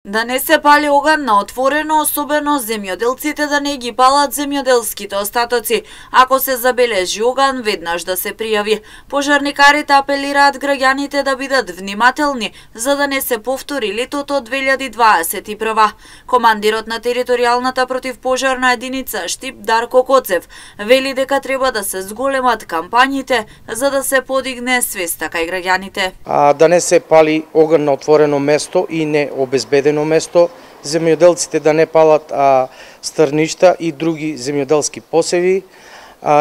Да не се пали оган на отворено, особено земјоделците да не ги палат земјоделските остатоци. Ако се забележи оган, веднаш да се пријави. Пожарникарите апелираат граѓаните да бидат внимателни, за да не се повтори летото 2021. Командирот на територијалната противпожарна единица Штип Дарко Коцев вели дека треба да се зголемат кампањите за да се подигне свеста кај граѓаните. Да не се пали оган на отворено место и не обезбедено место, земјоделците да не палат стрништа и други земјоделски посеви,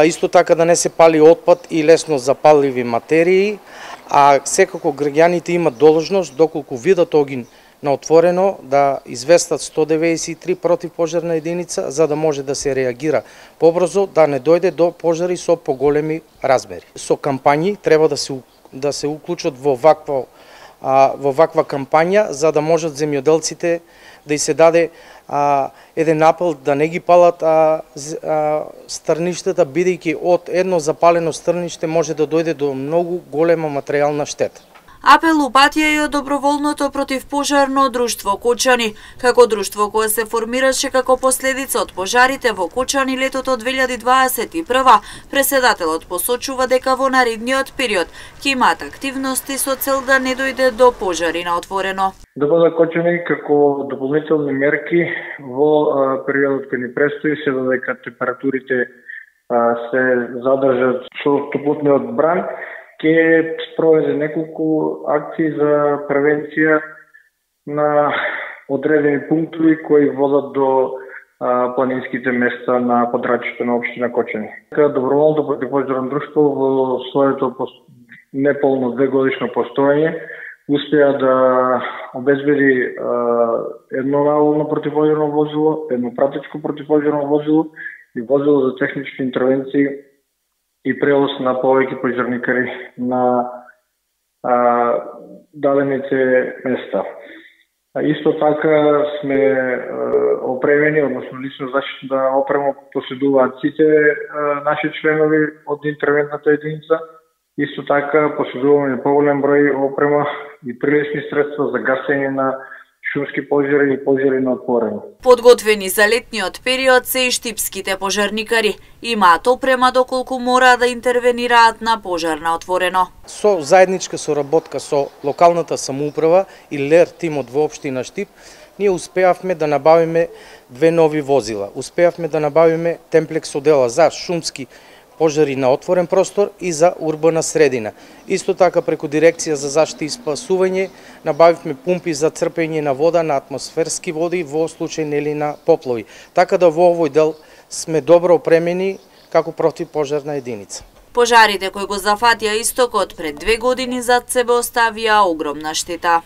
исто така да не се пали отпад и лесно запаливи материи, секако граѓаните имат должност доколку видат огин на отворено да известат 193 противпожарна единица за да може да се реагира побрзо, да не дојде до пожари со поголеми размери. Со кампањи треба да се уклучат во ваква кампања, за да можат земјоделците да и се даде еден апел да не ги палат стрништата, бидејќи од едно запалено стрниште може да дојде до многу голема материјална штета. Апел упатија и од доброволното противпожарно друштво Кочани, како друштво кое се формираше како последица од пожарите во Кочани летото 2021. Преседателот посочува дека во наредниот период ќе имаат активности со цел да не дојде до пожари на отворено. ДПЗ Кочани како дополнителни мерки во периодот кој ни престои се додека температурите се задржат со топлотниот бран, ќе спроведе неколку акции за превенција на одредени пунктови кои водат до планинските места на подрачјето на општина Кочани. Доброволното противпожарно друштво во своето неполно 2-годишно постоење успеа да обезбеди едно наволно противпожарно возило, едно пратечко противпожарно возило и возило за технички интервенции и превоз на повеќе пожарникари на дадените места. Исто така сме опремени, односно лично заштитна опрема поседуваат сите наши членови од интервентната единица. Исто така поседуваме поголем број опрема и прилични средства за гасење на шумски пожари и пожари на отворено. Подготвени за летниот период се и штипските пожарникари. Имаат опрема доколку мора да интервенираат на пожар на отворено. Со заедничка соработка со локалната самоуправа и ЛЕР тимот во општина Штип, ние успеавме да набавиме 2 нови возила. Успеавме да набавиме темплекс одела за шумски пожари на отворен простор и за урбана средина. Исто така преку дирекција за заштита и спасување набавивме пумпи за црпење на вода на атмосферски води во случај нели на поплави. Така да во овој дел сме добро опремени како противпожарна единица. Пожарите кои го зафатија истокот пред 2 години зад себе оставија огромна штета.